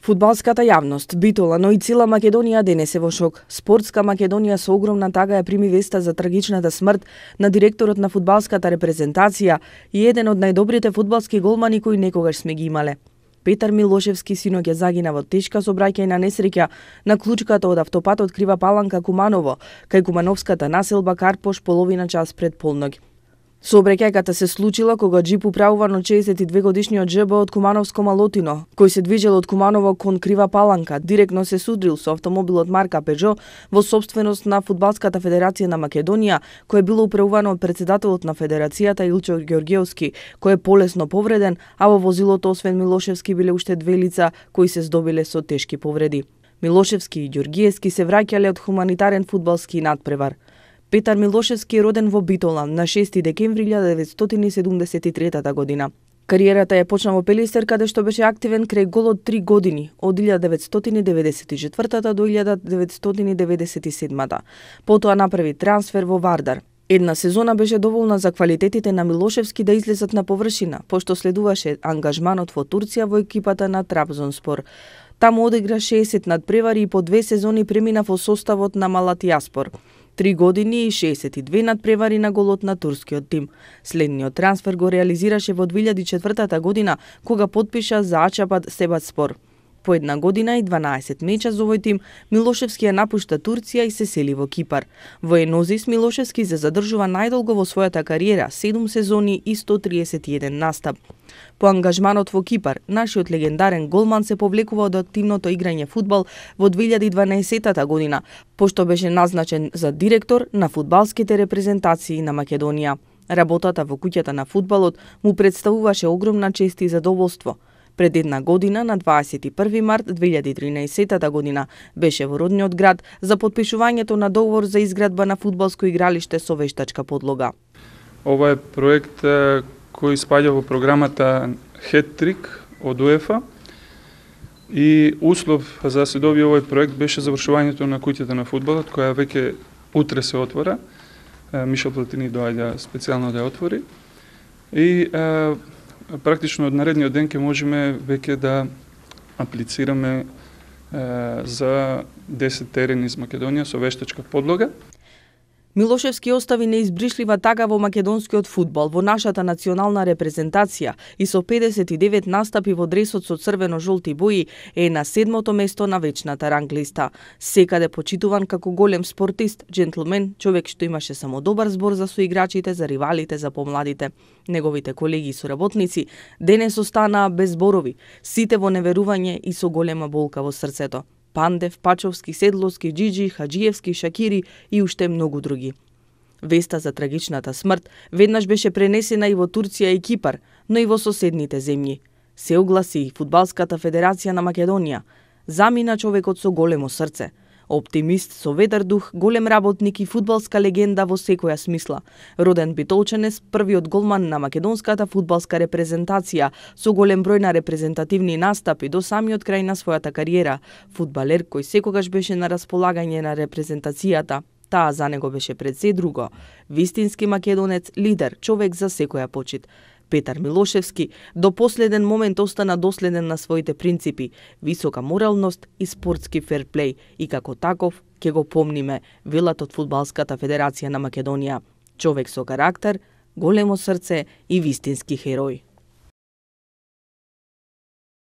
Фудбалската јавност, Битола, но и цела Македонија денес е во шок. Спортска Македонија со огромна тага ја прими веста за трагичната смрт на директорот на фудбалската репрезентација и еден од најдобрите фудбалски голмани кои некогаш сме ги имале. Петар Милошевски синоќ загина во тешка сообраќајна несреќа на клучката од автопатот Крива Паланка Куманово, кај кумановската населба Карпош половина час пред полноќ. Сообраќајката се случила кога джип управуван од 62 годишниот џБ од Кумановско Малотино, кој се движел од Куманово кон Крива Паланка, директно се судрил со автомобилот марка Пежо во сопственост на Фудбалската федерација на Македонија, кој било управувано од председателот на федерацијата Илчо Ѓорѓеовски, кој е полесно повреден, а во возилото освен Милошевски биле уште две лица кои се здобиле со тешки повреди. Милошевски и Ѓорѓиевски се враќале од хуманитарен фудбалски надпревар. Петар Милошевски е роден во Битола на 6 декември 1973 година. Кариерата ја почна во Пелистер, каде што беше активен крај голод 3 години, од 1994 до 1997. Потоа направи трансфер во Вардар. Една сезона беше доволна за квалитетите на Милошевски да излезат на површина, пошто следуваше ангажманот во Турција во екипата на Трабзонспор. Таму одигра 60 надпревари и по 2 сезони премина во составот на Малатијаспор. 3 години и 62 надпревари на голот на турскиот тим. Следниот трансфер го реализираше во 2004 година, кога потпиша за Ачапад Себатспор. По една година и 12 меча за овој тим, Милошевски ја напушта Турција и се сели во Кипар. Во Енозис Милошевски се задржува најдолго во својата кариера, 7 сезони и 131 настап. По ангажманот во Кипар, нашиот легендарен голман се повлекува од активното играње фудбал во 2012 година, пошто беше назначен за директор на фудбалските репрезентации на Македонија. Работата во куќата на фудбалот му представуваше огромна чест и задоволство. Пред една година, на 21 март 2013 година, беше во родниот град за потпишувањето на договор за изградба на фудбалско игралиште со вештачка подлога. Ова е проект кој спаѓа во програмата Хет-трик од УЕФА и услов за да се добие овој проект беше завршувањето на куќата на фудбалот, која веќе утре се отвора. Мишел Платини доаѓа специјално да ја отвори. И практично од наредниот ден ќе можеме веќе да аплицираме за 10 терени из Македонија со вештачка подлога. Милошевски остави неизбришлива тага во македонскиот фудбал, во нашата национална репрезентација и со 59 настапи во дресот со црвено-жолти бои е на 7-то место на вечната ранглиста. Секаде почитуван како голем спортист, джентлмен, човек што имаше само добар збор за соиграчите, за ривалите, за помладите. Неговите колеги и соработници денес останаа без зборови, сите во неверување и со голема болка во срцето. Пандев, Пачовски, Седловски, Джиджи, Хаджиевски, Шакири и уште многу други. Веста за трагичната смрт веднаш беше пренесена и во Турција и Кипар, но и во соседните земји. Се огласи и Фудбалската федерација на Македонија. Замина човекот со големо срце. Оптимист со ведар дух, голем работник и фудбалска легенда во секоја смисла. Роден битолчанец, првиот голман на македонската фудбалска репрезентација, со голем број на репрезентативни настапи до самиот крај на својата кариера. Фудбалер кој секогаш беше на располагање на репрезентацијата. Таа за него беше пред се друго. Вистински македонец, лидер, човек за секоја почит. Петар Милошевски до последен момент остана доследен на своите принципи, висока моралност и спортски ферплеј и како таков ќе го помниме, велат од Фудбалската федерација на Македонија. Човек со карактер, големо срце и вистински херој.